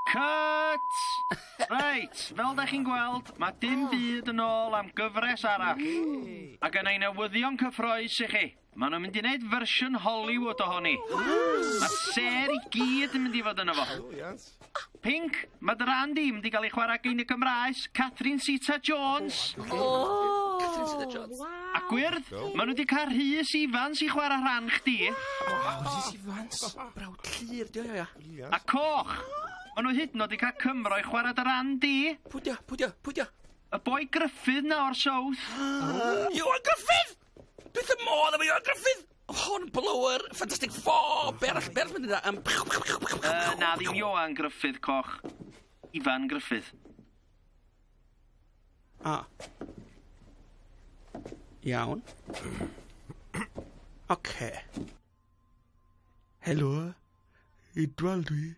Cut! Reit, fel da chi'n gweld, mae dim byd yn ôl am gyfres arall. A gynna i newyddion cyffrous i chi. Maen nhw'n mynd i wneud fersiwn Hollywood ohoni. Mae'r sêr i gyd yn mynd i fod yno fo. Pink, mae dy ran di mynd i gael ei chwarae gan y Gymraes, Catherine Zeta-Jones. Catherine Zeta-Jones. A gwyrdd, maen nhw wedi cael Rhys Ifans i chwarae rhan chdi. Waw, Rhys Ifans. Brawd Llyr, di o, ia. A coch, maen nhw hyd yn oed wedi cael Cymro i chwarae dy ran di. Pwy di o, pwy di o, pwy di o? Y boi Gruffydd na o'r South. Ioan Gruffudd! Dwi wrth y modd efo Ioan Gruffudd! Hornblower, Fantastic Four, be arall, be arall mae'n dweud? Na, ddim Ioan Gruffudd coch. Ifan Gruffydd. A. Iawn. Oce. Helo, Idwal dwi.